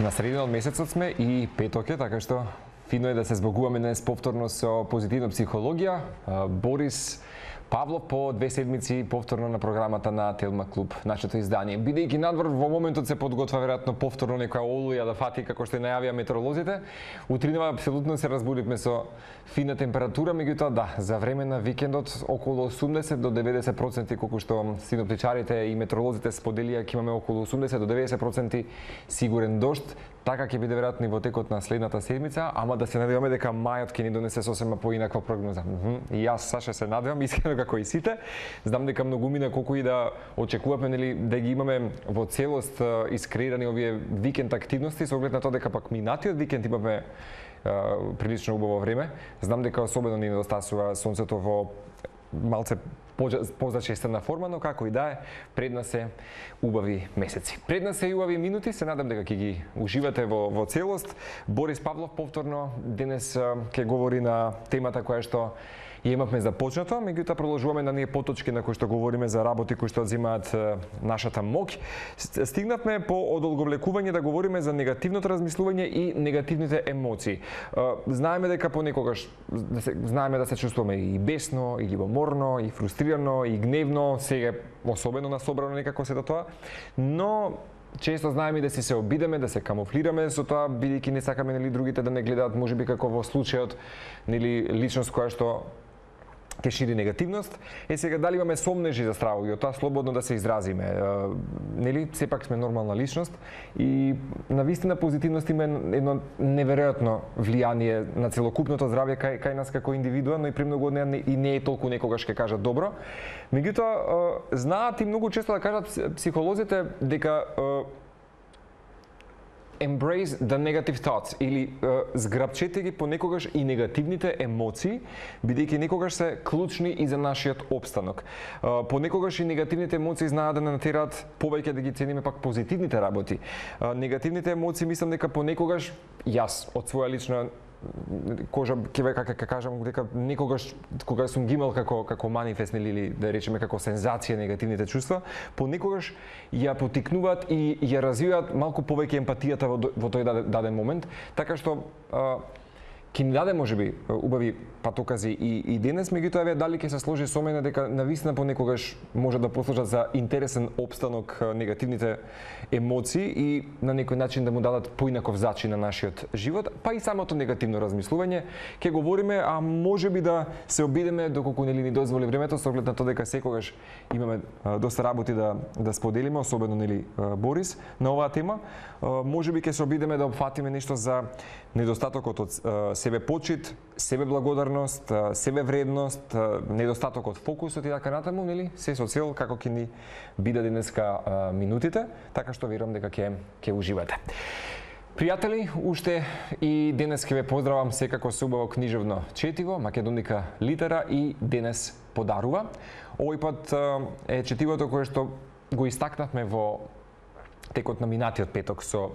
На средина од месецот сме и петок е, така што фино е да се збогуваме днес повторно со позитивна психологија. Борис Павлов по 2 седмици повторно на програмата на Телма Клуб, нашето издание. Бидејќи надвор во моментот се подготвя веројатно повторно некоја олуја да фати како што најавија метеоролозите. Утринава апсолутно се разбудивме со фина температура, меѓутоа да, за време на викендот околу 80 до 90% колку што синоптичарите и метеоролозите споделија ќе имаме околу 80 до 90% сигурен дожд. Така ќе биде веројатно и во текот на следната седмица, ама да се надеваме дека мајот ќе ни донесе сосема поинаква прогноза. И јас, Саша, се надевам, искрено како и сите. Знам дека многумина колку и да очекуваме, нели, да ги имаме во целост искреирани овие викенд активности, со оглед на тоа дека пак минатиот викенд имаме прилично убаво време. Знам дека особено ни недостасува сонцето во малце позачестена форма, но како и да е, пред нас е убави месеци. Пред нас е и убави минути, се надам дека ќе ги уживате во целост. Борис Павлов повторно денес ќе говори на темата која што ја имавме започнато, меѓутоа продолжуваме на ние поточки на кои што говориме за работи кои што земаат нашата моќ. Стигнавме по одолговлекување да говориме за негативното размислување и негативните емоции. Знаеме дека понекогаш знаеме да се чувствуваме и бесно, и љубоморно, и фрустрирано, и гневно, сега особено насобрано некако се тоа, но често знаеме да се обидеме, да се камуфлираме со тоа, бидејќи не сакаме нели другите да не гледаат можеби како во случајот нели личност која што ќе шири негативност. Сега дали имаме сомнежи за стравови, тоа слободно да се изразиме. Нели сепак сме нормална личност и навистина позитивност има едно неверојатно влијание на целокупното здравје кај нас како индивидуа, но и премногу од неа и не е толку некогаш ќе кажат добро. Меѓутоа знаат и многу често да кажат психолозите дека embrace the negative thoughts или зграбчете ги понекогаш и негативните емоции, бидејќи некогаш се клучни и за нашиот опстанок. Понекогаш и негативните емоции знаат да не натераат повеќе да ги цениме пак позитивните работи. Негативните емоции мислам дека понекогаш јас од своја лична кожа ќе кажам дека некогаш кога сум ги имал како манифест или да речеме како сензација негативните чувства, понекогаш ја потикнуваат и ја развиваат малку повеќе емпатијата во тој даден момент, така што ќе ни даде можеби убави патокази и денес, меѓутоа еве дали ќе се сложи со мене дека навистина понекогаш може да послужат за интересен опстанок негативните емоции и на некој начин да му дадат поинаков зачин на нашиот живот, па и самото негативно размислување. Ќе говориме, а можеби да се обидеме доколку нели ни дозволи времето, со оглед на тоа дека секогаш имаме доста работи да споделиме, особено нели Борис на оваа тема. Можеби ќе се обидеме да опфатиме нешто за недостатокот од себе почит, себе благодарност, себе вредност, недостатокот фокусот и така натаму, нели? Се со цел како ќе ни биде денеска минутите, така што верувам дека ќе уживате. Пријатели, уште и денес ќе ве поздравам секако со убаво книжевно четиво, Македоника литера и денес подарува. Овој пат е четивото кое што го истакнавме во текот на минатиот петок со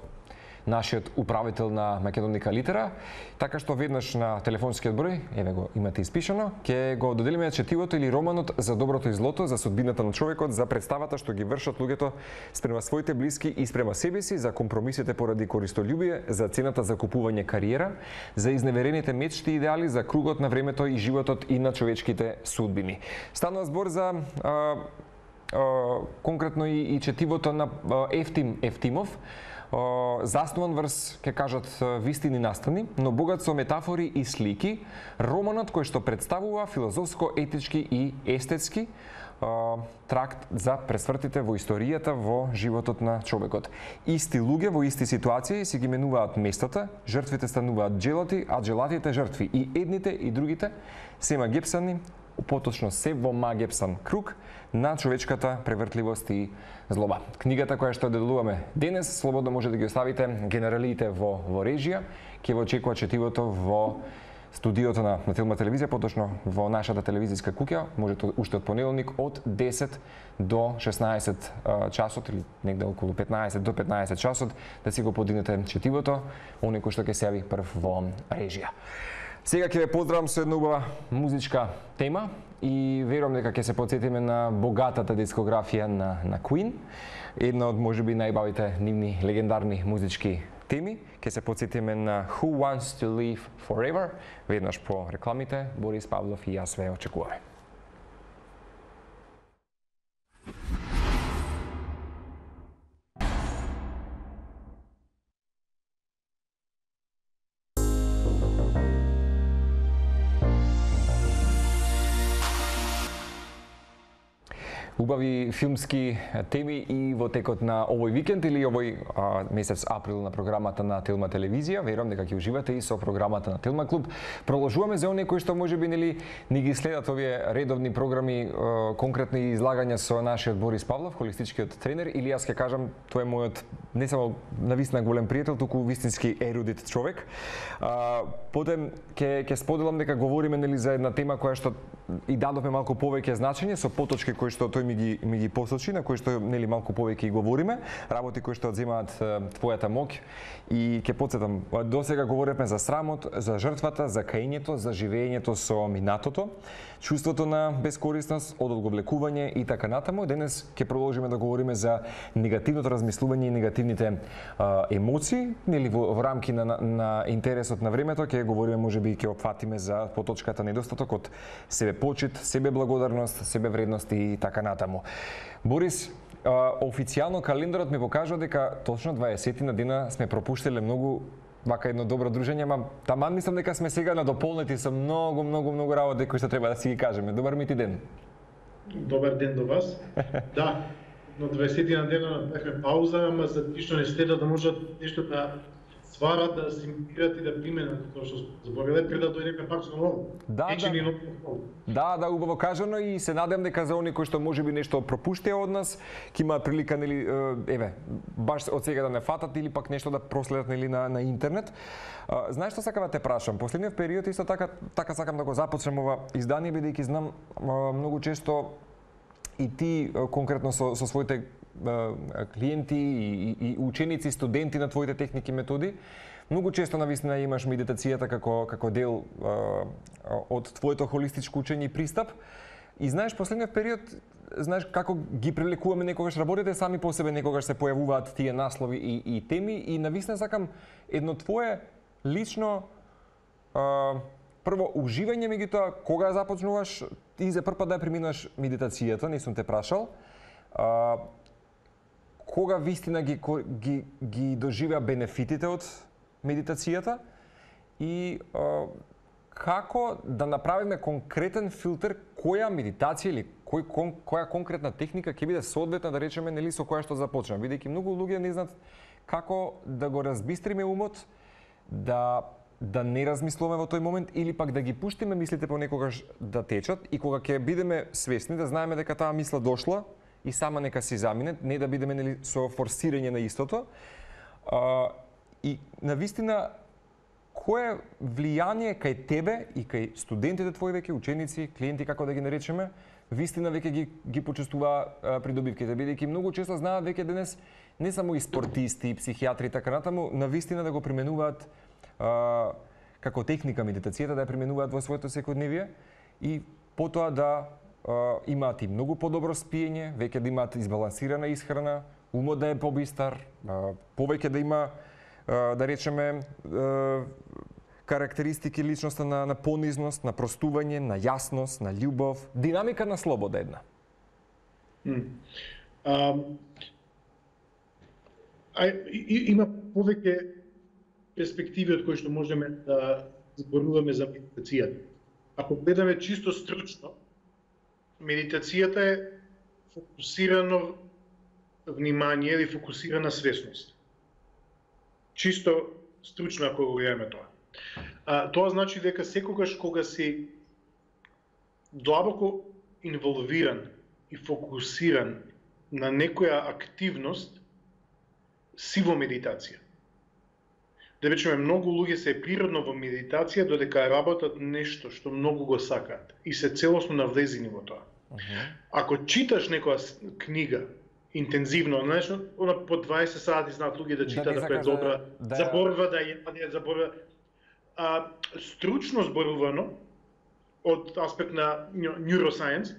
нашиот управител на Македоника литера, така што веднаш на телефонскиот број, еве го имате испишано, ќе го доделиме четивото или романот за доброто и злото, за судбината на човекот, за представата што ги вршат луѓето спрема своите блиски и спрема себе си, за компромисите поради користолюбие, за цената за купување кариера, за изневерените мечти и идеали, за кругот на времето и животот и на човечките судбини. Станува збор за конкретно и четивото на Евтим Евтимов, заснуван врз, ќе кажат, вистини настани, но богат со метафори и слики, романот кој што представува филозофско, етички и естетски тракт за пресвртите во историјата во животот на човекот. Исти луѓе во исти ситуации си ги менуваат местата, жртвите стануваат джелати, а джелатите жртви. И едните и другите се магепсани, поточно се во магепсан круг на човечката превртливост и злоба. Книгата која што деделуваме денес, слободно може да ги оставите генералиите во режија, ќе во очекува четивото во студиото на Телма телевизија, поточно во нашата телевизиска куќа, можете уште од понеделник од 10 до 16 часот или негде околу 15 до 15 часот да си го подигнете четивото, оној кој што ќе се јави прв во режија. Сега ќе ве поздравам со една убава музичка тема и верувам дека ќе се потсетиме на богатата дискографија на Queen, една од можеби најбавите нивни легендарни музички теми. Ке се подсетиме на Who Wants to Live Forever, веднаш по рекламите. Борис Павлов и јас ве очекуваме. Убави филмски теми и во текот на овој викенд или овој месец април на програмата на Телма телевизија. Верувам дека ќе уживате и со програмата на Телма клуб. Продолжуваме за оние кои што можеби нели ни ги следат овие редовни програми, конкретни излагања со нашиот Борис Павлов, холистичкиот тренер, или јас ќе кажам тој е мојот не само навистина голем пријател, туку вистински ерудит човек. Потем ќе споделам дека говориме нели за една тема која што и дадовме малку повеќе значење со поточки кои што тој ми ги посочи, на кои што нели малку повеќе и говориме, работи кои што одземаат твојата моќ. И ќе потсетам, досега говоревме за срамот, за жртвата, за каењето, за живеењето со минатото, чувството на бескорисност, одолговлекување и така натаму. Денес ќе продолжиме да говориме за негативното размислување и негативните емоции, нели во рамки на интересот на времето ќе говориме, можеби ќе опфатиме за поточката недостаток од себепочит, себеблагодарност, себевредност и така натаму. Борис, официјално календарот ми покажува дека точно 20 на дена сме пропуштиле многу вака едно добро дружење, ама таман мислам дека сме сега надополнети со многу работи кои што треба да си ги кажеме. Добар ми ти ден. Добар ден до вас. Да, на 20 на дена бевме пауза, ама за тие што не следат да можат нешто да сварат, да асимилират и да применат тоа што збориле пред да дојдеме пак со ново. Да, убаво кажано и се надевам дека за оние кои што можеби нешто пропуштија од нас, ќе имаат прилика нели баш од сега да не фатат или пак нешто да проследат нели на интернет. Знаеш што сакам да те прашам? Последниот период исто така сакам да го започнем ова издание, бидејќи знам многу често и ти конкретно со своите клиенти и ученици, студенти на твоите техники и методи, многу често навистина имаш медитацијата како дел од твоето холистичко учење и пристап. И знаеш, последниот период, знаеш како ги преликуваме некогаш работите сами по себе, некогаш се појавуваат тие наслови и теми и навистина сакам едно твое лично прво уживање меѓутоа кога започнуваш и за прв пат да ја преминуваш медитацијата, не сум те прашал. Кога вистина ги доживеа бенефитите од медитацијата и како да направиме конкретен филтер која медитација или која конкретна техника ќе биде соодветна, да речеме, нели со која што започнеме, бидејќи многу луѓе не знаат како да го разбистриме умот, да не размислуваме во тој момент или пак да ги пуштиме мислите понекогаш да течат и кога ќе бидеме свесни да знаеме дека таа мисла дошла и сама нека си замине, не да бидеме нели со форсирање на истото. И навистина кое влијание кај тебе и кај студентите твои веќе, ученици, клиенти како да ги наречеме, вистина веќе ги почувствува придобивките, бидејќи многу често знаат веќе денес не само и спортисти, и психијатри и така натаму, навистина да го применуваат како техника медитацијата, да ја применуваат во своето секојдневие и потоа да имаат и многу подобро спиење, веќе да имаат избалансирана исхрана, умот да е побистар, повеќе да има, да речеме, карактеристики личноста на понизност, на простување, на јасност, на љубов, динамика на слобода една. Има повеќе перспективи од кои што можеме да зборуваме за медитацијата. Ако гледаме чисто стручно, медитацијата е фокусирано внимание или фокусирана свесност. Чисто стручно ако го гледаме тоа. Тоа значи дека секогаш кога си длабоко инволвиран и фокусиран на некоја активност, си во медитација. Да речеме, многу луѓе се природно во медитација додека работат нешто што многу го сакаат и се целосно навлезени во тоа. Ако читаш некоја книга интензивно, знаеш, она по 20 сати знаат луѓе да читаат, да е добра, заборва да ја заборва. Стручно зборувано од аспект на neuroscience,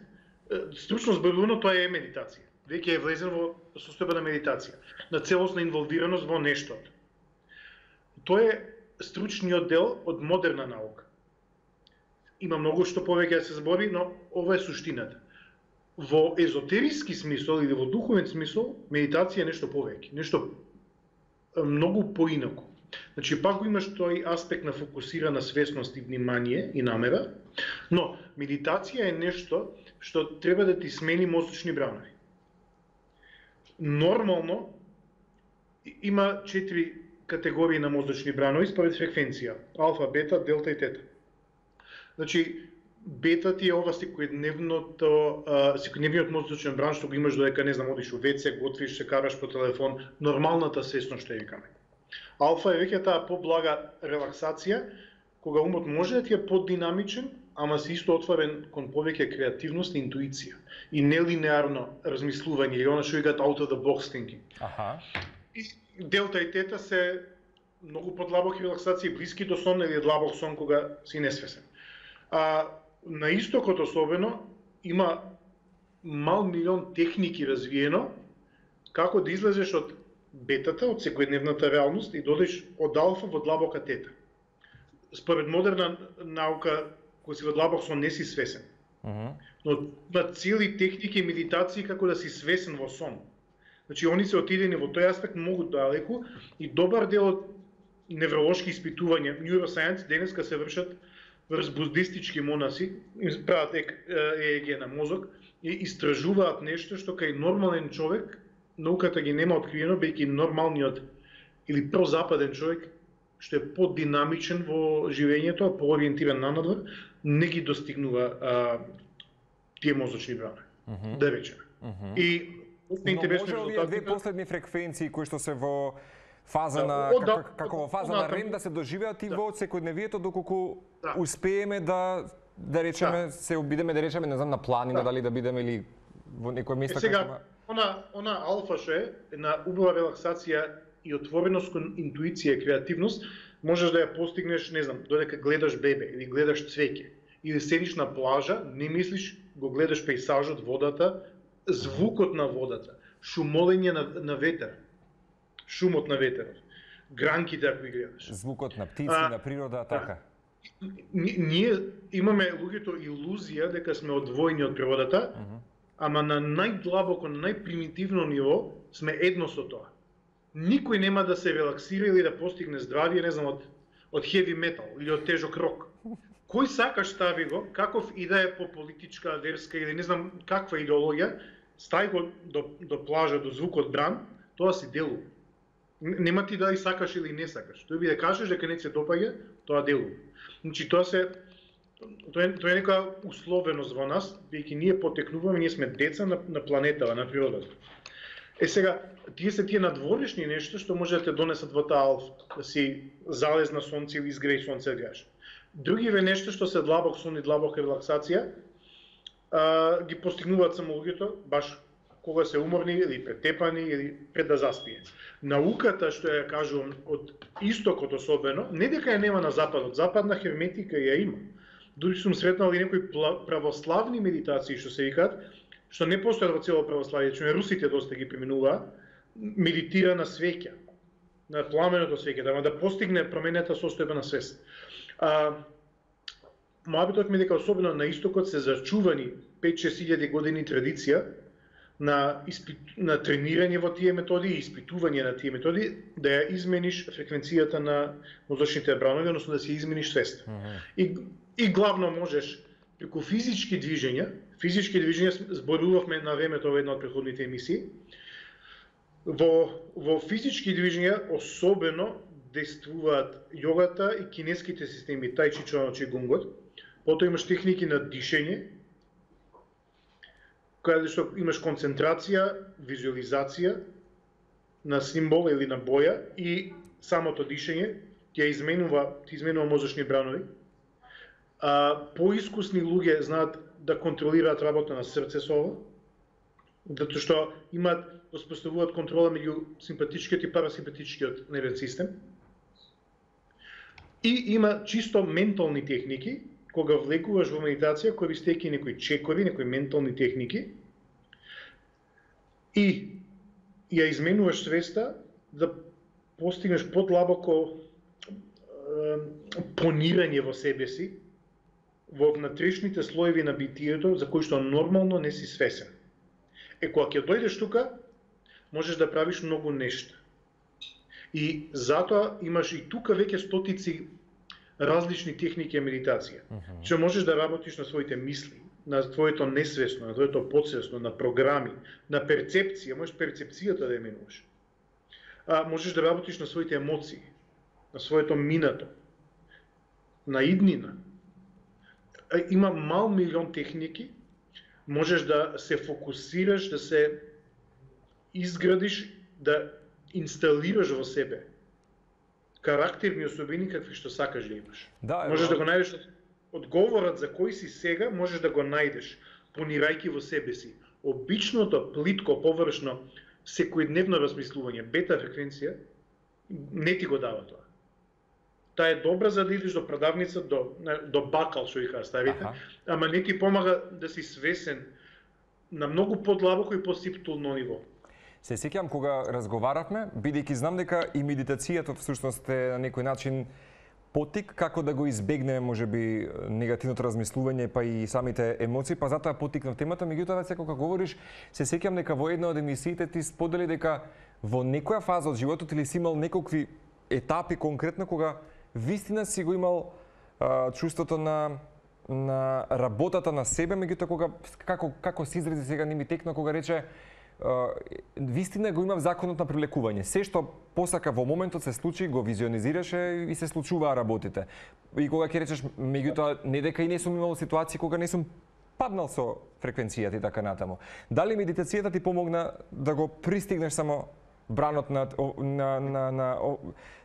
стручно зборувано тоа е медитација. Веќе е влезен во состојба на медитација, на целосна инволвираност во нештото. Тоа е стручниот дел од модерна наука. Има многу што повеќе да се збори, но ова е суштината. Во езотериски смисол или во духовен смисол, медитација е нешто повеќе, нешто многу поинаку. Значи, пак го имаш тој аспект на фокусирана свесност и внимание и намера, но медитација е нешто што треба да ти смени мозочни бранови. Нормално има 4 категории на мозочни бранови според фреквенција: алфа, бета, делта и тета. Значи, бета ти е ова секојдневниот мозочен бран што го имаш додека, не знам, одиш у ВЦ, готвиш, се караш по телефон, нормалната свесност што ја викаме. Алфа е веќе таа поблага релаксација, кога умот може да ти е поддинамичен, ама се исто отворен кон повеќе креативност и интуиција и нелинеарно размислување, или она што викаат out of the box thinking. И делта и тета се многу подлабоки релаксации, блиски до сон или длабок сон кога си несвесен. На истокот особено има мал милион техники развиено како да излезеш од бетата, од секојдневната реалност и додеш од алфа во длабока тета. Според модерна наука, кога си во длабок сон не си свесен. Но на цели техники и медитации како да си свесен во сон. Значи, они се отидени во тој аспект многу далеку и добар дел од невролошки испитувања, neuroscience денеска се вршат врз буддистички монаси, прават ЕЕГ на мозок и истражуваат нешто што кај нормален човек науката ги нема откриено, бејќи нормалниот или прозападен човек што е поддинамичен во живењето, поориентиран на надвор, не ги достигнува тие мозочни бранови. Да речеме. И може ли две последни фреквенции кои што се во фаза на како во фаза на рем да се доживеат и во секојдневието доколку успееме да речеме се обидеме да речеме не знам на планина дали да бидеме или во некој место сега она алфа што е на убава релаксација и отвореност кон интуиција и креативност можеш да ја постигнеш, не знам, додека гледаш бебе или гледаш цвеќе или седиш на плажа, не мислиш, го гледаш пејзажот, водата, звукот на водата, шумолење на ветер, шумот на ветерот, гранките ако ги гледаш. Звукот на птици, на природа, така. Ние имаме луѓето илузија дека сме одвоени од природата, ама на најдлабоко, најпримитивно ниво сме едно со тоа. Никој нема да се релаксира или да постигне здравие, не знам, од хеви метал или од тежок рок. Кој сакаш стави го, каков и да е по политичка, верска или не знам каква идеологија, стај го до плажа, до звукот бран, тоа си делува. Нема ти дали сакаш или не сакаш. Тој би да кажеш дека не се допаѓа, тоа делува. Значи тоа е некоја условеност во нас, бидејќи ние потекнуваме, ние сме деца на планетава, на природата. Сега, тие се тие надворешни нешто што може да те донесат во таа алфа, да си залез на сонце или изгреј сонце да гледаш. Другиве нешто што се длабок сон и длабока релаксација, ги постигнуваат само луѓето баш кога се уморни или претепани или пред да заспие. Науката што ја кажувам од истокот особено, не дека ја нема на западот, западна херметика ја има. Дури сум сретнал и некои православни медитации што се викаат, што не постојат во цело православие, че русите доста ги применуваат, медитира на свеќа, на пламеното свеќе, да постигне променета состојба на свест. Моабитот ми дека особено на истокот се зачувани 5-6 години традиција на тренирање во тие методи и испитување на тие методи, да ја измениш фреквенцијата на мозочните бранови, односно да си измениш свест. И главно можеш преку физички движења зборувавме на времето во една од претходните емисии, во физички движења особено действуваат јогата и кинеските системи, тај чи, чуано чи, гунгот. Потоа имаш техники на дишење, каде што имаш концентрација, визуализација на символ или на боја и самото дишење ти изменува мозочни бранови. Поискусни луѓе знаат да контролираат работа на срце со ова, затоа што воспоставуваат контрола меѓу симпатичкиот и парасимпатичкиот нервен систем. И има чисто ментални техники, кога влегуваш во медитација, користејќи некои чекови, некои ментални техники, и ја изменуваш свеста да постигнеш подлабоко понирање во себе си, во внатрешните слоеви на битието, за кои што нормално не си свесен. Кога ќе дојдеш тука, можеш да правиш многу нешта. И затоа имаш и тука веќе стотици различни техники и медитација. Че можеш да работиш на своите мисли, на твоето несвесно, на твоето подсвесно, на програми, на перцепција, можеш перцепцијата да ја менуваш. Можеш да работиш на своите емоции, на своето минато, на иднина. Има мал милион техники, можеш да се фокусираш, да се изградиш, да инсталираш во себе карактерни особини какви што сакаш да имаш. Можеш да го најдеш одговорот за кој си сега, можеш да го најдеш понирајќи во себе си. Обичното, плитко, површно, секојдневно размислување, бета фреквенција, не ти го дава тоа. Таа е добра за да идеш до продавница, до бакал, што ги кажа старите, ама не ти помага да си свесен на многу подлабоко и посиптулно ниво. Се сеќавам кога разговаравме, бидејќи знам дека и медитацијата всушност е на некој начин потик како да го избегнеме можеби негативното размислување па и самите емоции, па затоа потикнав темата, меѓутоа веќе кога говориш, се сеќавам дека во една од емисиите ти сподели дека во некоја фаза од животот или си имал некакви етапи конкретно кога вистина си го имал чувството на работата на себе, меѓутоа кога како се изрази сега не ми текна кога рече вистина го имав законот на прилекување. Се што посака во моментот се случи, го визионизираше и се случуваа работите. И кога ќе речеш, меѓутоа не дека и не сум имал ситуации кога не сум паднал со фреквенцијата и така натаму. Дали медитацијата ти помогна да го пристигнеш само бранот на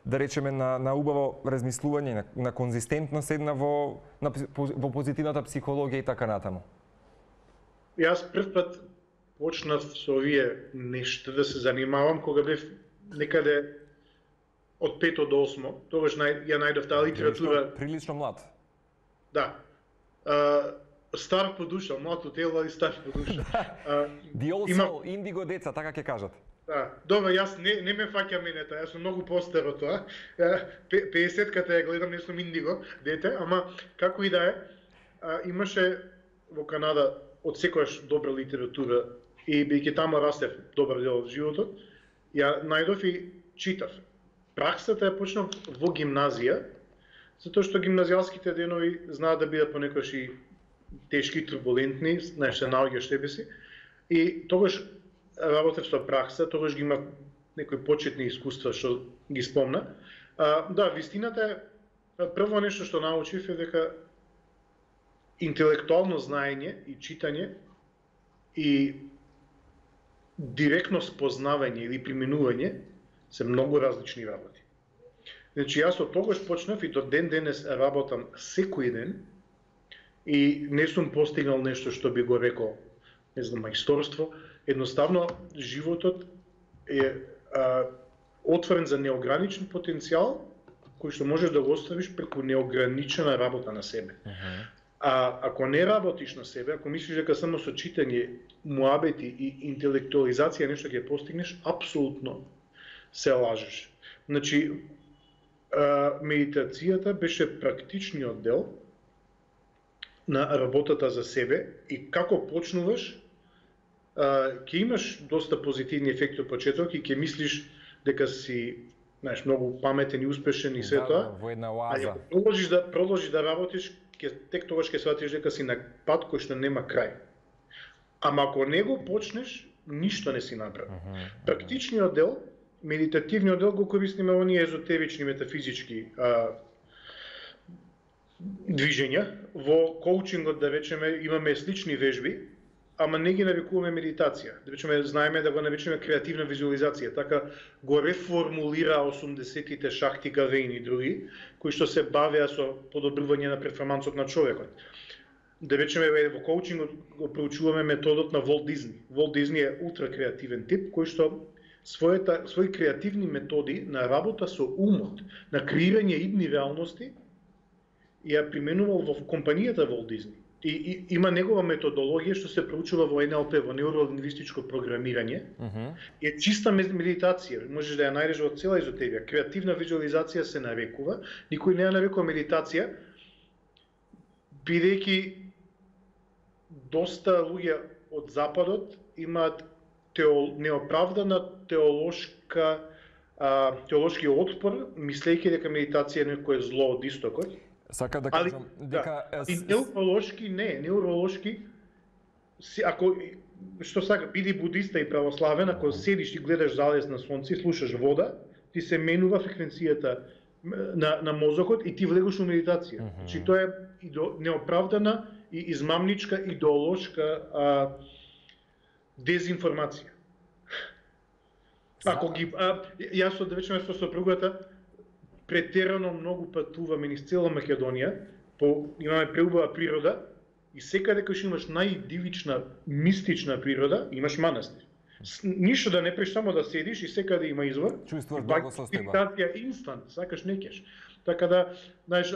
да речеме на убаво размислување, на конзистентност една во позитивната психологија и така натаму? Јас прв пат почнав со овие нешта да се занимавам кога бев некаде од 5 до 8. Тогаш ја најдов таа литература. Прилично млад. Да. Стар по душа, млад од тело и стар по душа. The old soul, индиго деца, така ќе кажат. Да, добро, јас не ме фаќа менета, јас сум многу постар од тоа. 50-ката ја гледам, не сум индиго дете, ама како и да е, имаше во Канада од секојаш добра литература и бидејќи таму растев добар дел од животот, ја најдов и читав. Праксата ја почнав во гимназија, затоа што гимназијалските денови знаат да бидат понекогаш и тешки, турбулентни, знаеш, се наоѓаш себе си. И тогаш работев со пракса, тогаш ги имав некои почетни искуства што ги спомна. Да, вистината е, прво нешто што научив е дека интелектуално знаење и читање и директно спознавање или применување се многу различни работи. Значи јас од тогаш почнав и до ден денес работам секој ден и не сум постигнал нешто што би го рекол, не знам, мајсторство. Едноставно животот е отворен за неограничен потенцијал кој што можеш да го оставиш преку неограничена работа на себе. Ако не работиш на себе, ако мислиш дека само со читање, муабети и интелектуализација нешто ќе постигнеш, апсолутно се лажеш. Значи, медитацијата беше практичниот дел на работата за себе и како почнуваш, ќе имаш доста позитивни ефекти од почеток и ќе мислиш дека си, знаеш, многу паметен и успешен и се тоа. Во една оаза. Продолжиш да работиш, тек тогаш ќе сватиш дека си на пат кој што нема крај. Ама ако не го почнеш, ништо не си направил. Практичниот дел, медитативниот дел го користиме во оние езотерични метафизички движења. Во коучингот, да речеме, имаме слични вежби, ама не ги нарекуваме медитација. Да речеме, знаеме да го наречеме креативна визуализација. Така го реформулира 80-тите Шакти Гавейн и други, кои што се бавеа со подобрување на перформансот на човекот. Да речеме, во коучингот го проучуваме методот на Волт Дизни. Волт Дизни е ултра креативен тип, кој што своји креативни методи на работа со умот, на креирање идни реалности, ја применувал во компанијата Волт Дизни. и има негова методологија што се проучува во НЛП, во неуролингвистичко програмирање. Е чиста медитација, можеш да ја најдеш во цела езотерија. Креативна визуализација се нарекува, никој не ја нарекува медитација, бидејќи доста луѓе од западот имаат неоправдана теолошки отпор, мислејќи дека медитација е некое зло од истокот. Сака да кажам дека и неуролошки ако што сака биди будиста и православен, ако седиш и гледаш залез на сонце и слушаш вода, ти се менува фреквенцијата на мозокот и ти влегаш во медитација. Значи тоа е неоправдана и измамничка идеолошка дезинформација. Ако ги јас од вечерно со сопругата претерано многу патуваме низ цела Македонија, имаме преубава природа и секаде кај имаш најдивична, мистична природа, имаш манастир. Ништо да не преш, само да седиш и секаде има извор. Чувствуваш благосостојба. Медитација инстант, сакаш не кеш. Така да, знаеш,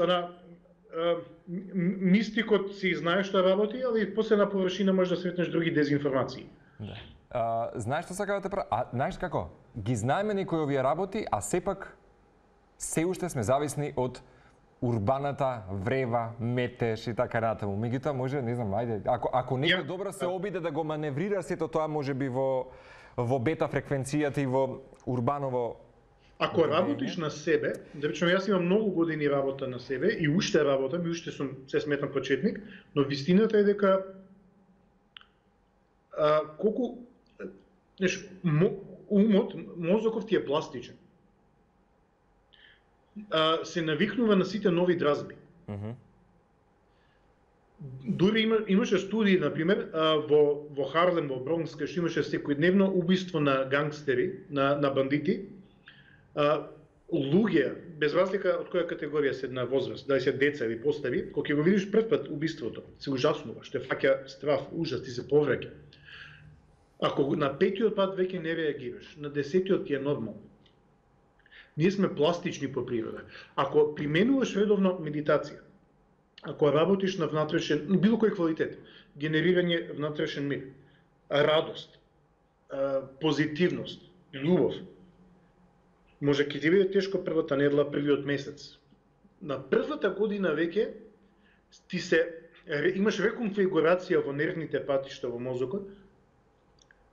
мистикот си знае што работи, али после на површина можеш да сретнеш други дезинформации. Да. Знаеш што сака да те прави? Знаеш како? Ги знаеме некои овие работи, а сепак се уште сме зависни од урбаната врева, метеж и така натаму. Меѓутоа може, не знам, ајде, ако некој добро се обиде да го маневрира сето тоа, можеби во бета фреквенцијата и во урбаново. Ако работиш на себе, да речеме јас имам многу години работа на себе и уште работам и уште сум се сметам почетник, но вистината е дека колку умот, мозоков ти е пластичен. Се навикнува на сите нови дразби. Дури имаше студии, например, во Харлем, во Бронкс, кај што имаше секојдневно убиство на гангстери, на бандити, луѓе, без разлика од која категорија се на возраст, дали се деца или постари, кога ќе го видиш прв пат убиството, се ужаснуваш, те фаќа страф, ужас, ти се повраќа. Ако на 5-тиот пат веќе не реагираш, на 10-тиот ти е нормално. Ние сме пластични по природа. Ако применуваш редовно медитација, ако работиш на внатрешен, било кој квалитет, генерирање внатрешен мир, радост, позитивност, љубов, може ќе ти биде тешко првата недела, првиот месец. На првата година веќе ти имаш реконфигурација во нервните патишта во мозокот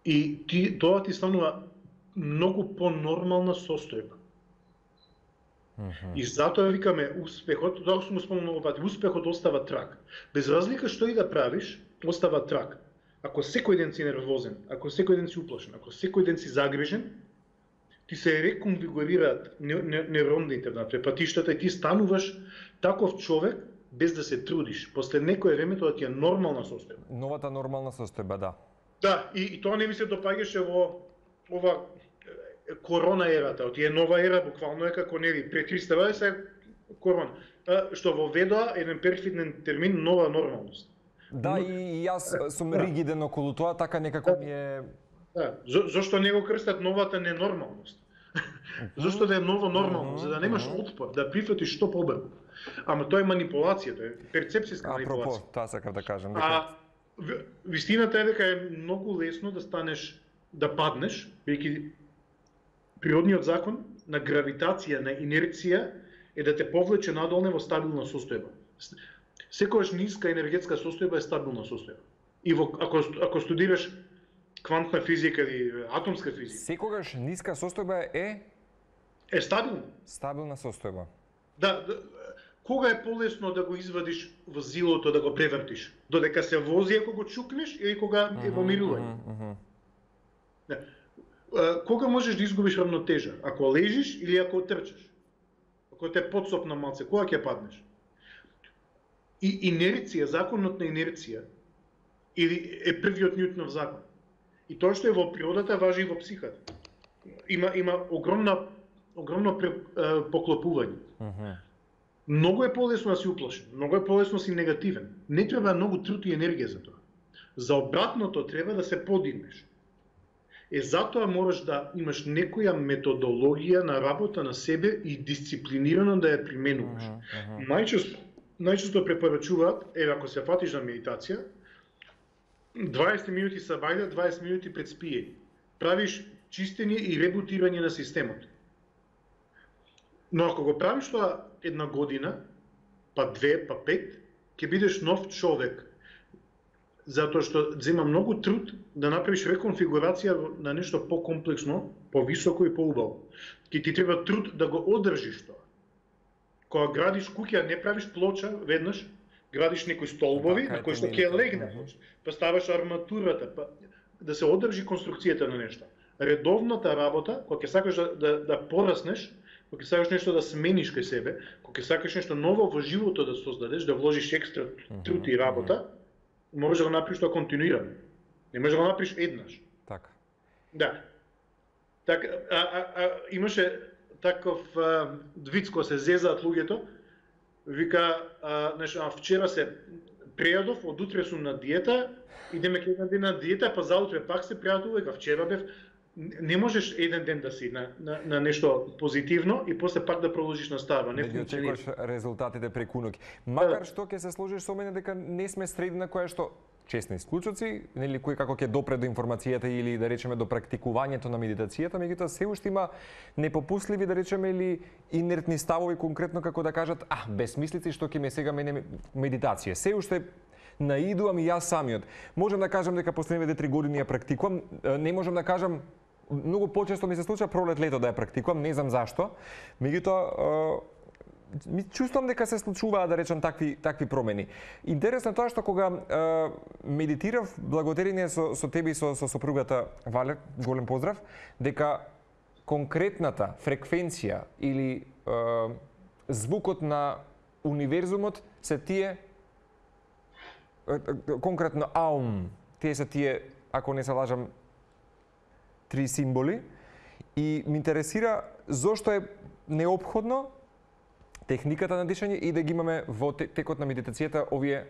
и тоа ти станува многу по-нормална состојба. И затоа викаме успехот, тоа сум спомнал многу пати, успехот остава траг. Без разлика што и да правиш, остава траг. Ако секој ден си нервозен, ако секој ден си уплашен, ако секој ден си загрижен, ти се реконфигурираат нейроните внатре патиштата и ти стануваш таков човек без да се трудиш. После некое време тоа ти е нормална состојба. Новата нормална состојба, да. Да, и тоа не ми се допаѓаше во ова корона ерата, тие нова ера буквално е како нели пред Христова се корона, што воведоа еден перфиден термин нова нормалност. Да, и јас сум ригиден околу тоа, така некако ми е. Да, зошто не го крстат новата ненормалност? Зошто да е ново нормално, за да немаш отпор, да прифатиш што побрзо. Ама тоа е манипулација, тоа е перцепцијска манипулација. Апропо, тоа сакав да кажам. Вистината е дека е многу лесно да станеш, да паднеш, бидејќи природниот закон на гравитација, на инерција е да те повлече надолне во стабилна состојба. Секогаш ниска енергетска состојба е стабилна состојба. И ако студираш квантна физика или атомска физика, секогаш ниска состојба е стабилна. Стабилна состојба. Да, кога е полесно да го извадиш возилото, да го превртиш? Додека се вози ако го чукнеш или кога е во мирување? Кога можеш да изгубиш равнотежа? Ако лежиш или ако трчаш? Ако те подсопна малце, кога ќе паднеш? И инерција, законот на инерција, или е првиот Њутонов закон. И тоа што е во природата важи и во психата. Има огромно поклопување. Многу е полесно да си уплашен, многу е полесно да си негативен. Не треба многу труд и енергија за тоа. За обратното треба да се подигнеш. Затоа мораш да имаш некоја методологија на работа на себе и дисциплинирано да ја применуваш. најчесто препорачуваат, ако се фатиш на медитација, 20 минути са бајда, 20 минути пред спиење. Правиш чистење и ребутирање на системот. Но ако го правиш тоа една година, па 2, па 5, ќе бидеш нов човек. Затоа што зема многу труд да направиш реконфигурација на нешто покомплексно, повисоко и поубаво. Ќе ти треба труд да го одржиш тоа. Кога градиш куќа, не правиш плоча веднаш, градиш некои столбови на кои што ќе легне, па ставаш арматурата, па да се одржи конструкцијата на нешто. Редовната работа, кога ќе сакаш да пораснеш, кога ќе сакаш нешто да смениш кај себе, кога ќе сакаш нешто ново во животот да создадеш, да вложиш екстра труд и работа, можеш да го направиш тоа континуирано. Не можеш да го направиш еднаш. Така. Да. Така, имаше таков виц кога се зезаат луѓето, вика, вчера се прејадов, од утре сум на диета, идеме ќе еден ден на диета, па за утре пак се прејадов, вика, вчера бев. Не можеш еден ден да си на нешто позитивно и после пак да продолжиш настава. Не функционира. Очекуваш резултатите преку ноќ. Макар што ќе се сложиш со мене дека не сме средина која што честни исклучоци, нели кој како ќе допре до информацијата или да речеме до практикувањето на медитацијата, меѓутоа се уште има непопустливи да речеме или инертни ставови конкретно како да кажат, безсмислици што ќе ме сега мене медитација. Се уште наидувам и јас самиот. Можам да кажам дека последните 3 години ја практикувам, не можам да кажам многу почесто ми се случува пролет лето да ја практикувам, не знам зашто. Меѓутоа ми чувствувам дека се случуваат да речам такви промени. Интересно тоа што кога медитирав, благодарение со тебе и со сопругата Вале, голем поздрав, дека конкретната фреквенција или звукот на универзумот се тие конкретно аум, тие се тие, ако не се лажам, 3 символи и ми интересира зошто е неопходно техниката на дишање и да ги имаме во текот на медитацијата овие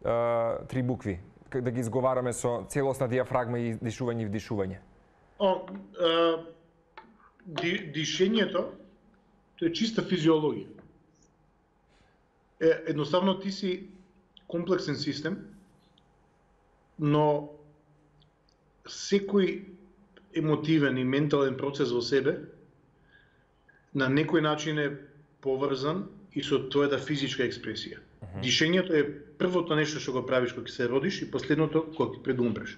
3 букви, да ги изговараме со целосна диафрагма и дишување и вдишување. Дишењето тоа е чиста физиологија. Едноставно ти си комплексен систем, но секој емотивен и ментален процес во себе на некој начин е поврзан и со твојата физичка експресија. Дишењето е првото нешто што го правиш кога се родиш и последното кога пред да умреш.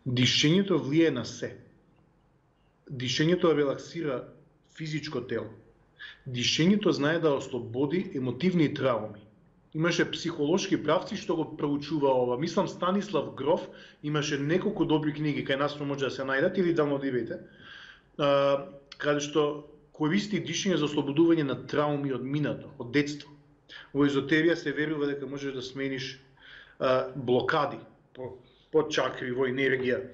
Дишењето влие на се. Дишењето релаксира физичко тело. Дишењето знае да ослободи емотивни трауми. Имаше психолошки правци што го проучува ова. Мислам Станислав Гроф имаше неколку добри книги кај нас може да се најдат или да одивете. Каде што користи дишење за ослободување на трауми од минато, од детство. Во езотерија се верува дека можеш да смениш блокади по чакри, во енергија.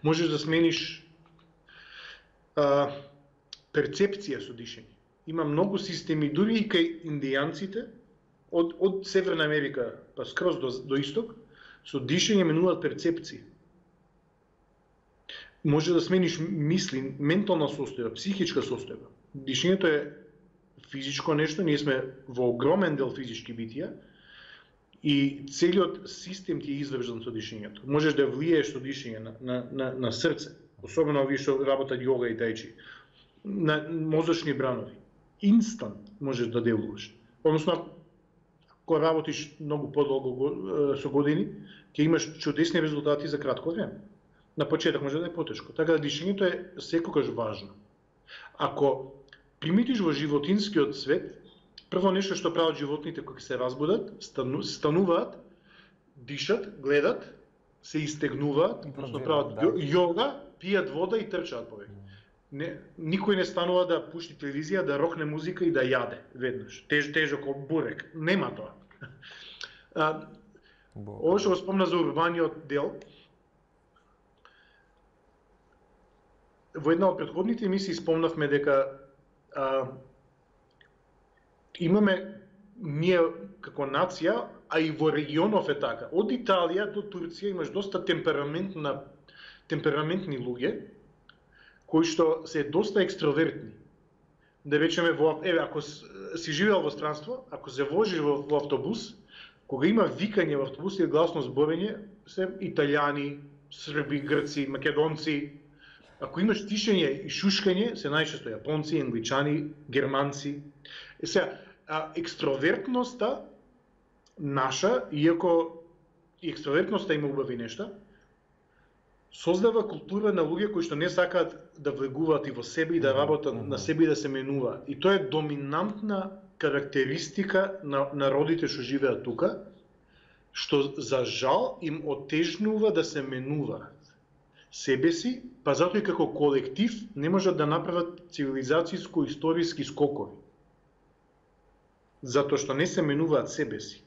Можеш да смениш перцепција со дишење. Има многу системи, дури и кај индијанците, од Северна Америка па скроз до исток, со дишење менуваат перцепција. Може да смениш мисли, ментална состојба, психичка состојба. Дишењето е физичко нешто, ние сме во огромен дел физички битија и целиот систем ти е извршен со дишењето. Можеш да влиеш со дишење на срце, особено овие што работат јога и тајчи, на мозочни бранови. Инстант можеш да делуваш. Односно, кога работиш многу подолго со години, ќе имаш чудесни резултати за кратко време. На почеток може да е потешко. Така да дишењето е секогаш важно. Ако приметиш во животинскиот свет, прво нешто што прават животните кога се разбудат, стануваат, дишат, гледат, се истегнуваат, односно прават јога, пијат вода и трчаат повеќе. Никој не станува да пушти телевизија, да рокне музика и да јаде веднаш. Тежок како бурек. Нема тоа. Ово што го спомна за урбаниот дел, во една од претходните емисии спомнавме дека имаме ние како нација, а и во регионов е така. Од Италија до Турција имаш доста темпераментни луѓе, кои што се доста екстровертни. да речеме ако си живеел во странство, ако се возиш во автобус, кога има викање во автобус или гласно зборење, се италијани, срби, грци, македонци. Ако имаш тишење и шушкање, се најчесто јапонци, англичани, германци. Сега, екстровертноста наша, иако и екстровертноста има убави нешта, создава култура на луѓе кои што не сакаат да влегуваат и во себе и да работат на себе и да се менуваат. И тоа е доминантна карактеристика на народите што живеат тука, што за жал им отежнува да се менуваат себе си, па затоа и како колектив не можат да направат цивилизацијско-историски скокови. Затоа што не се менуваат себе си.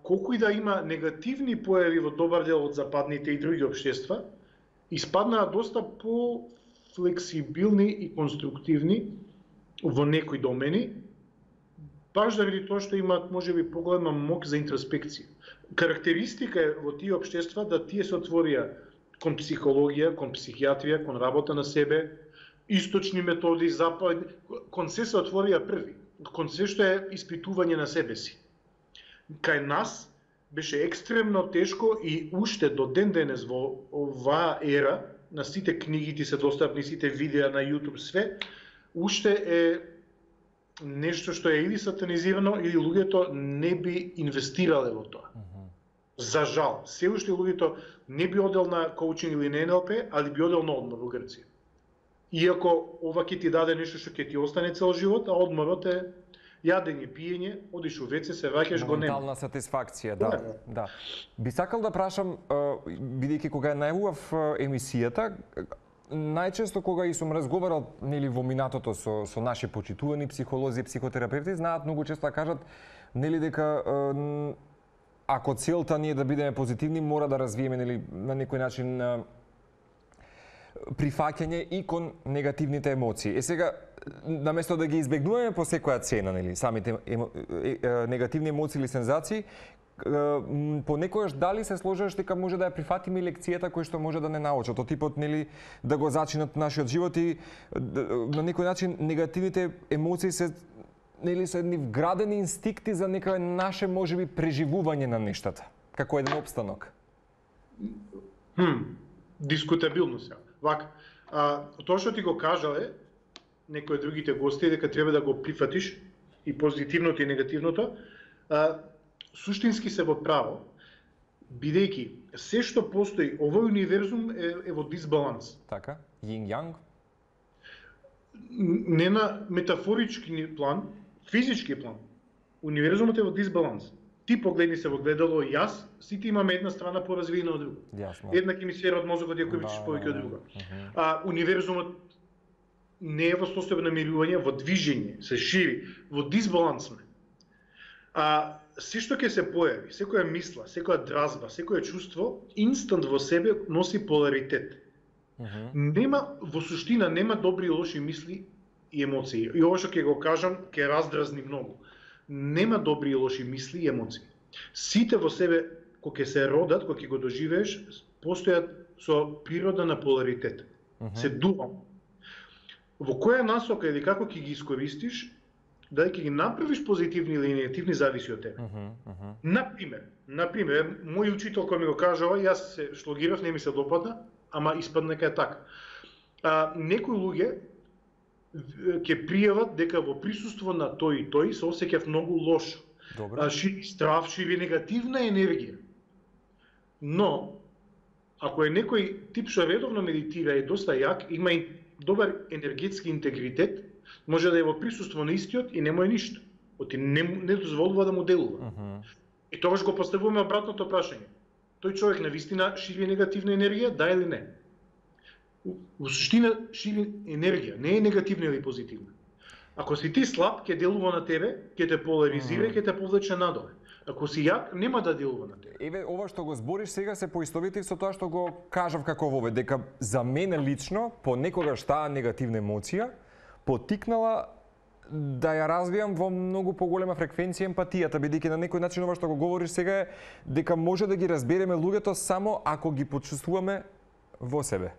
Колку и да има негативни појави во добар дел од западните и други општества, испаднаа доста по-флексибилни и конструктивни во некои домени, баш заради тоа што имаат можеби поголема моќ за интроспекција. Карактеристика е во тие општества да тие се отворија кон психологија, кон психијатрија, кон работа на себе, источни методи, западни, кон се отворија први, кон се што е испитување на себе си. Кај нас беше екстремно тешко и уште до ден денес во оваа ера, на сите книгите се достапни, сите видеа на YouTube, све, уште е нешто што е или сатанизирано, или луѓето не би инвестирале во тоа. За жал, се уште луѓето не би одел на коучинг или на НЛП, али би одел на одмор во Грција. Иако ова ќе ти даде нешто што ќе ти остане цел живот, а одморот е јадење, пиење, одиш у веце, се враќаш, го нема. Моментална сатисфакција, да. Би сакал да прашам, бидејќи кога најавував емисијата, најчесто кога и сум разговарал нели во минатото со наши почитувани психолози, психотерапевти, знаат многу често да кажат нели дека ако целта ни е да бидеме позитивни, мора да развиеме нели на некој начин прифаќање и кон негативните емоции. Сега наместо да ги избегнуваме по секоја цена, нели, самите негативни емоции или сензации, понекогаш дали се сложуваш дека може да ја прифатиме лекцијата која што може да не научат, од типот нели да го зачинат нашиот живот и на некој начин негативните емоции се нели се едни вградени инстинкти за некој наше можеби преживување на нештата, како еден опстанок. Дискутабилно се. Вака, тоа што ти го кажале некои од другите гости дека треба да го прифатиш и позитивното и негативното, суштински се во право, бидејќи се што постои, овој универзум е во дисбаланс. Така, јин-јанг? Не на метафорички план, физички план. Универзумот е во дисбаланс. Ти погледни се во гледало, јас, сите имаме една страна поразвиена од друга. Една ќе ми сфера од мозокот ја кој вичиш повеќе од друга. Универзумот не е во состојба на мирување, во движење, се шири, во дисбаланс сме. Се што ќе се појави, секоја мисла, секоја дразба, секоја чувство, инстант во себе носи поларитет. Нема, во суштина, нема добри и лоши мисли и емоции. И ова што ќе го кажам, ќе раздразни многу. Нема добри и лоши мисли и емоции. Сите во себе, кога ќе се родат, кога ќе го доживееш, постојат со природа на поларитет. Се дуално. Во која насока или како ќе ги искористиш, дали ќе ги направиш позитивни или негативни, зависи од тебе. Например, мој учител кој ми го кажа ова, јас се шлогирав, не ми се допадна, ама испадна дека е така. Некои луѓе ќе пријават дека во присуство на тој и тој се осеќав многу лошо. Шири страв, шири негативна енергија. Но, ако е некој тип што редовно медитира и доста јак, има и добар енергетски интегритет, може да е во присуство на истиот и нема ништо. Оти не дозволува да му делува. И тогаш го поставуваме обратното прашање. Тој човек навистина шири негативна енергија, да или не? Во суштина шири енергија, не е негативна или позитивна. Ако си ти слаб, ќе делува на тебе, ќе те поларизира и ќе те повлече надоле. Ако си јак, нема да делува на тебе. Еве, ова што го збориш сега се поистовити со тоа што го кажав како вове, дека за мене лично, понекогаш таа негативна емоција потикнала да ја развијам во многу поголема фреквенција емпатијата, бидејќи на некој начин ова што го говориш сега е дека може да ги разбереме луѓето само ако ги почувствуваме во себе.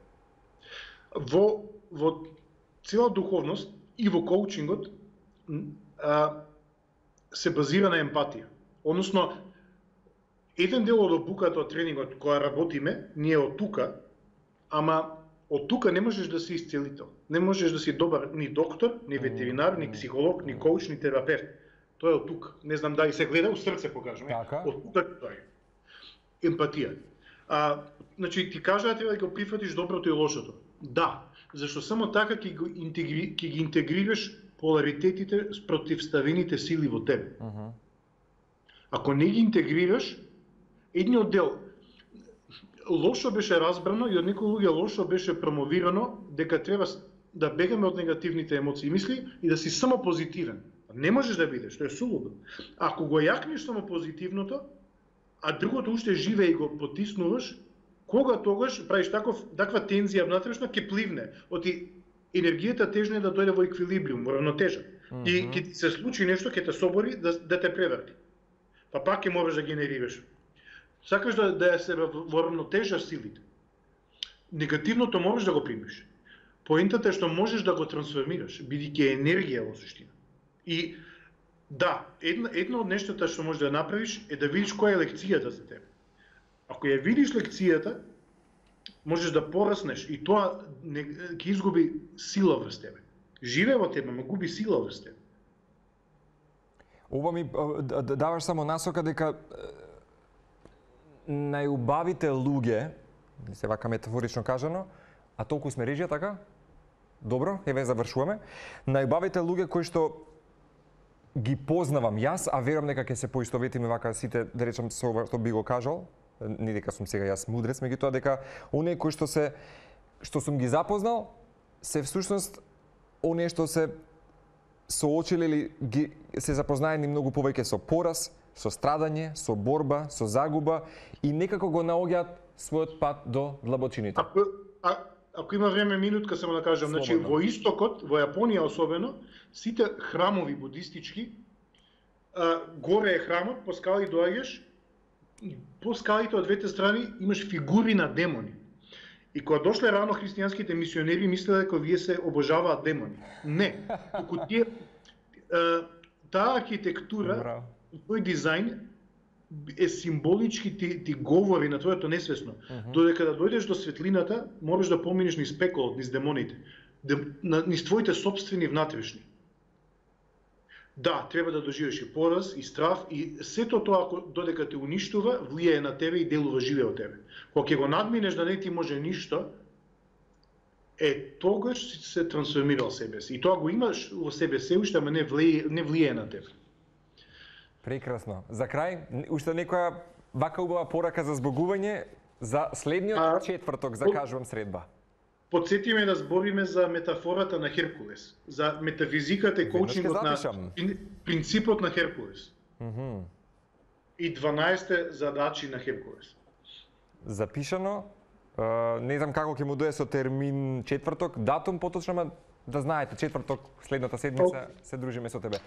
Во цела духовност, и во коучингот се базира на емпатија. Односно, еден дел од обуката од тренингот која работиме, ние од тука, ама од тука не можеш да си исцелител. Не можеш да си добар ни доктор, ни ветеринар, ни психолог, ни коуч, ни терапевт. Тоа е од тука. Не знам дали се гледа, у срце покажам. Од тука тоа е. Емпатија. Значи, ти кажа да треба да го прифатиш доброто и лошото. Да, зашто само така ќе ги интегрираш поларитетите, спротивставените сили во тебе. Ако не ги интегрираш, едниот дел лошо беше разбрано и од некои луѓе лошо беше промовирано дека треба да бегаме од негативните емоции и мисли и да си само позитивен. Не можеш да бидеш, тоа е сулудо. Ако го јакнеш само позитивното, а другото уште живее и го потиснуваш, кога тогаш правиш таква тензија внатрешна, ќе пливне. Оти енергијата тежна е да дојде во еквилибриум, во равнотежа. И ќе ти се случи нешто, ќе те собори да те преврти. Па пак ќе можеш да генерираш. Сакаш да се во равнотежа силите. Негативното можеш да го примиш. Поентата е што можеш да го трансформираш, бидејќи е енергија во суштина. И да, едно од нештата што можеш да направиш е да видиш која е лекцијата за тебе. Ако ја видиш лекцијата, можеш да пораснеш и тоа ќе изгуби сила врз тебе. Живе во тебе, ма губи сила врз тебе. Ова ми даваш само насока дека најубавите луѓе, се вака метафорично кажано, а толку сме режија, така? Добро, еве завршуваме. Најубавите луѓе кои што ги познавам јас, а верувам дека ќе се поистоветиме вака сите, да речам со ова што би го кажал, не дека сум сега јас мудрец, меѓутоа дека оние кои што сум ги запознал, се всушност оние што се соочиле или се запознаени многу повеќе со пораз, со страдање, со борба, со загуба и некако го наоѓаат својот пат до длабочините. Ако има време, минутка само да кажам, значи во истокот, во Јапонија особено, сите храмови будистички, горе е храмот, по скали доаѓаш, по скалите од двете страни имаш фигури на демони. И кога дошле рано христијанските мисионери, мислеле дека вие се обожаваат демони. Не, туку тие таа архитектура, тој дизајн е символички ти говори на твоето несвесно. Додека да дојдеш до светлината, можеш да поминеш низ пеколот, низ демоните, низ твоите собствени внатрешни. Да, треба да доживеш и пораз, и страв, и сето тоа додека те уништува, влијае на тебе и делува живе од тебе. Кога ќе го надминеш да не ти може ништо, тогаш си се трансформирал себе си. И тоа го имаш во себе се уште, ама не влијае на тебе. Прекрасно. За крај, уште некоја вака убава порака за збогување за следниот четврток, закажувам средба. Подсети ме да збориме за метафората на Херкулес, за метафизиката и коучингот на принципот на Херкулес. И 12 задачи на Херкулес. Запишано. Не знам како ќе му дое со термин четврток, датум поточно, да знаете, четврток следната седмица се дружиме со тебе.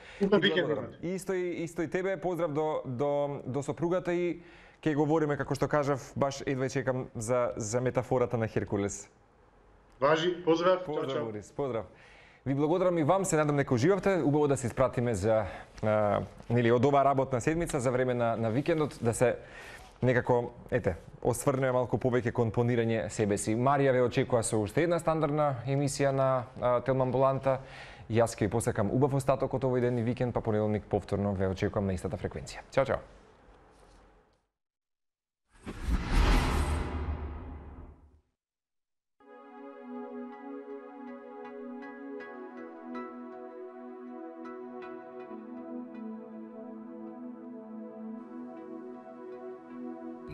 Исто и тебе, поздрав до сопругата и ќе говориме, како што кажав, баш едва чекам за метафората на Херкулес. Важи, поздрав. Поздрав, Борис, поздрав. Ви благодарам и вам, се надам дека уживавте. Убаво да се испратиме за од оваа работна седмица за време на викендот, да се некако, осврнеме малку повеќе кон планирање себе си. Марија ве очекува со уште една стандардна емисија на Телма Амбуланта. Јас ќе ви посакам убав остаток од овој ден и викенд, па понеделник повторно ве очекувам на истата фреквенција. Чао, чао.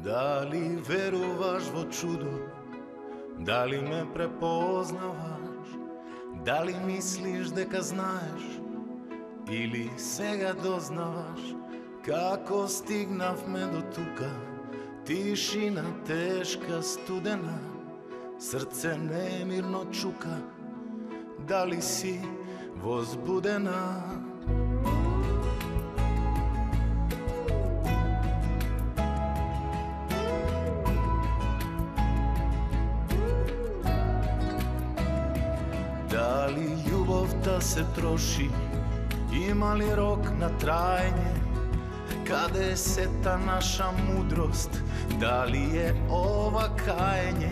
Дали веруваш во чудо? Дали ме препознаваш? Дали мислиш дека знаеш? Или сега дознаваш како стигнавме до тука? Тишина тешка, студена, срце немирно чука. Дали си возбудена? Дали љубовта љубовта се троши, има ли рок на траење? Каде е сета наша мудрост? Дали е ова каење?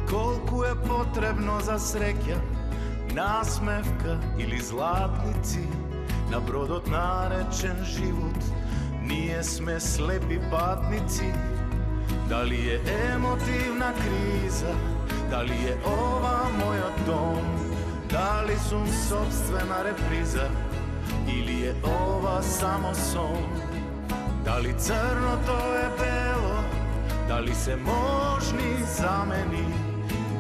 Колку е потребно за среќа, насмевка или златници на бродот наречен живот? Ние сме слепи патници. Дали е емотивна криза? Дали е ова мојот дом? Дали сум собствена реприза? Или е ова само сон? Дали црното е бело? Дали се можни замени?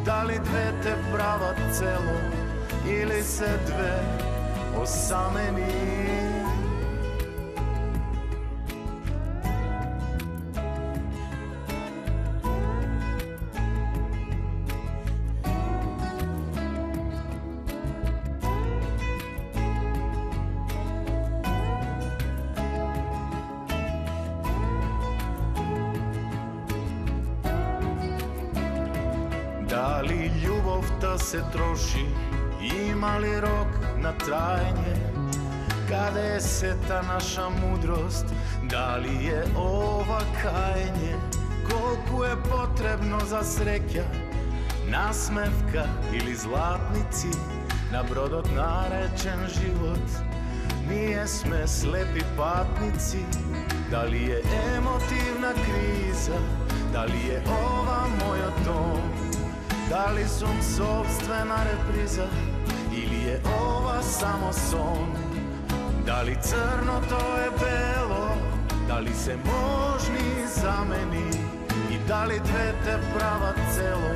Дали двете прават цело? Или се две осамени? Дали љубовта се троши, има ли рок на траење? Каде е сета наша мудрост? Дали е ова каење? Колку е потребно за среќа, насмевка или златници на бродот наречен живот? Ние сме слепи патници. Дали е емотивна криза? Дали е ова мојот дом? Дали сум собствена реприза? Или е ова само сон? Дали црното е бело? Дали се можни замени? И дали двете прават цело?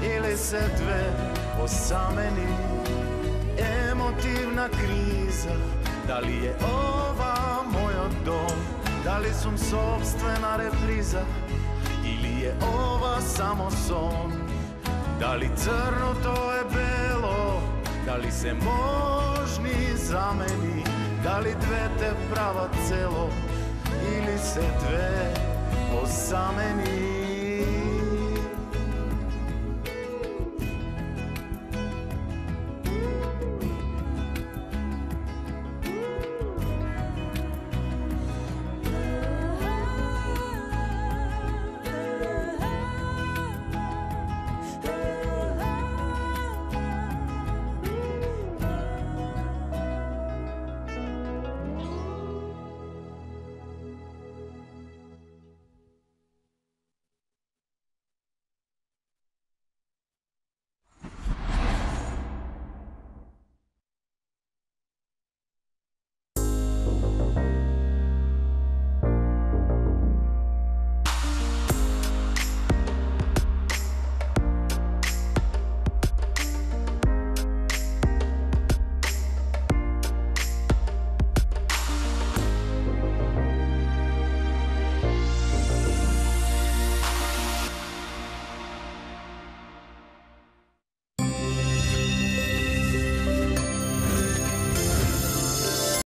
Или се две осамени? Емотивна криза? Дали е ова мојот дом? Дали сум собствена реприза? Или е ова само сон? Дали црното е бело? Дали се можни замени? Дали двете прават цело? Или се две осамени?